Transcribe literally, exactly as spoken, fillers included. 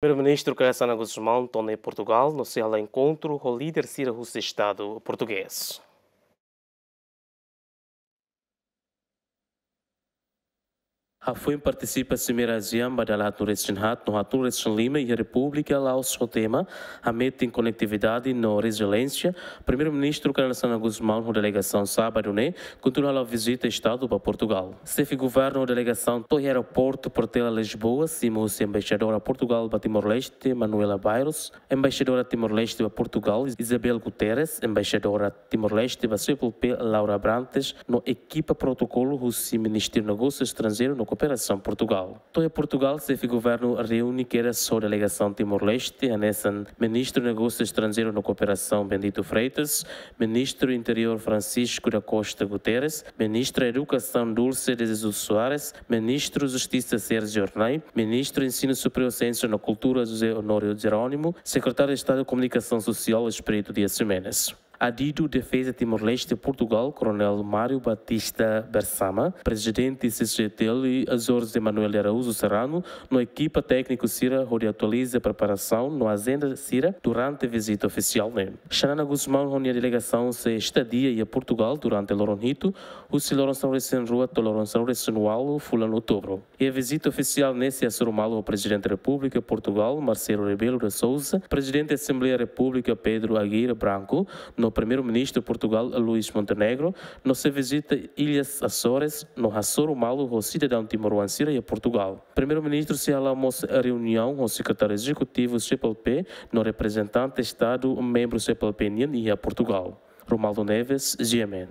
Primeiru-Ministru Kay Rala Xanana Gusmão to'o ona iha Portugal no sei hala'o enkontru ho líder sira husi Estadu Portugés. Hafoin partisipa Simeira ASEAN ba dala haatnulu resin haat no haatnulu resin lima iha Repúblika Laos ho tema Hametin Konetividade no Reziliénsia, Primeiru-Ministru Kay Rala Xanana Gusmão ho delegasaun sábadu ne'e kontinua hala'o vizita Estadu ba Portugal. Xefe Governu ho delegasaun to'o iha aeroportu Portela Lisboa, simu husi Embaixadora Portugal ba Timor-Leste, Manuela Bairros, Embaixadora Timor-Leste ba Portugal, Isabel Guterres, Embaixadora Timor-Leste ba C P L P, Laura Abrantes, no ekipa protokolu husi Ministériu Negósiu Estranjeiru no Kooperasaun Portugal. To'o iha Portugal, Xefe Governu reúne kedas ho delegasaun Timor-Leste, hanesan Ministru Negósiu Estranjeiru no Kooperasaun Bendito Freitas, Ministru Interiór Francisco da Costa Guterres, Ministra Edukasaun Dulce de Jesus Soares, Ministru Justisa Sérgio Hornai, Ministru Ensinu Superiór, Siénsia no Kultura José Honório Jerónimo, Sekretáriu Estadu Komunikasaun Sosiál Espírito Dias Ximenes. Adidu Defeza Timor-Leste Portugal, Koronél Mário Batista Bersama, Prezidente C C T L, Jorge Manuel de Araújo Serrano, no ekipa tékniku sira hodi atualiza preparasaun no ajenda sira durante vizita ofisiál ne'e. Xanana Gusmão ho nia delegasaun sei estadia iha Portugal durante loron hitu, husi loron sanulu resin rua to'o loron sanulu resin ualu fulan Outubru. Iha vizita ofisiál ne'e sei hasoru malu ho Prezidente Repúblika Portugal, Marcelo Rebelo de Sousa, Prezidente Asembleia Repúblika, Pedro Aguirre Branco, no Primeiru-Ministru Portugal, Luís Montenegro, no sei vizita Ilhas Açores, no hasoru malu ho sidadaun timoroan sira iha Portugal. Primeiru-Ministru sei hala'o mós reuniaun ho Sekretáriu Ezekutivu C P L P, no reprezentante Estadu membru C P L P nian iha Portugal. Romualdo Neves, G M N.